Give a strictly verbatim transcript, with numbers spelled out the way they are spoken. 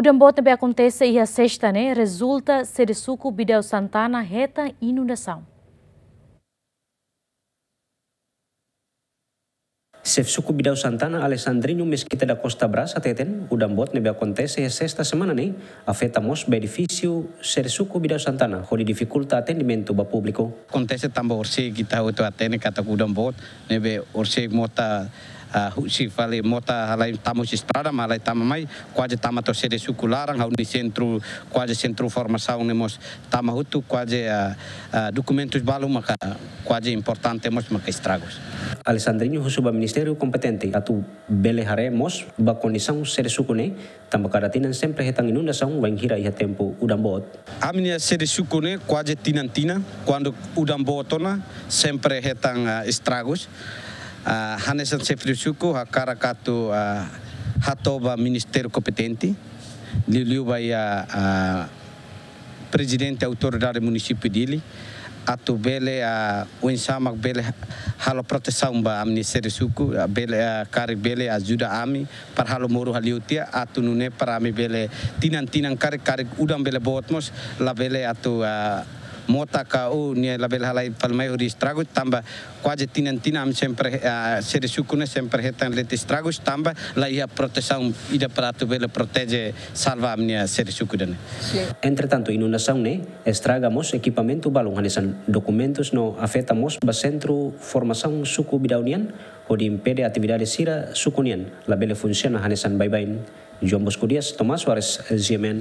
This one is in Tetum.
Udan boot ne'ebé akontese iha sesta ne'e rezulta sede suku Bidau Santana hetan inundasaun. Xefe suku Bidau Santana, Alessandrinho Mesquita da Costa Braz, hateten udan boot ne'ebé akontese iha sesta semana ne'e afeta mós ba edifísiu sede suku Bidau Santana, hodi difikulta atendimentu ba públiku. Akontese tanba orsida ita hotu hatene katak udan boot ne'ebé orsida mota, ah, husi fali mota halai tama husi estrada, mak halai tama mai, kuaze tama to'o sede suku laran, ha'u-nia sentru, kuaze sentru formasaun ne'e mós tama hotu, kuaze, ah, ah, dokumentus balu maka kuaze importante mós maka estragus. Alessandrinho husu ba ministériu kompetente atu bele haree mós ba kondisaun sede suku ne'e, tanba kada tinan sempre hetan inundasaun bainhira iha tempu udan boot. Ami-nia sede suku ne'e kuaze tinan-tinan, kuandu udan boot ona, sempre hetan, ah, estragus. Ah, hanesan xefe suku hakarak atu, ah, hato'o ba ministériu kompetente, liuliu ba iha, ah, prezidente autoridade munisípiu Dili, atu bele, ah, oinsá mak bele halo protesaun ba ami-nia sede suku, ah, bele, ah, karik bele ajuda ami para halo moru haliu tiha atu nune'e para ami bele tinan-tinan karik, karik udan bele boot mós labele atu, ah, mota ka o nia labele halai fali mai hodi estragu tanba kuaze tinan-tinan ami sempre, ah, sede suku ne'e sempre hetan leti estragus tanba la iha protesaun ida para atu bele proteje salva ami-nia sede suku ida-ne'e. Entretantu, inundasaun ne'e estraga mós ekipamentu balun hanesan dokumentus no afeta mós ba sentru formasaun suku Bidau nian, hodi impede atividade sira suku nian labele funsiona hanesan baibain. João Bosco Dias, Tomás Soares, G M N.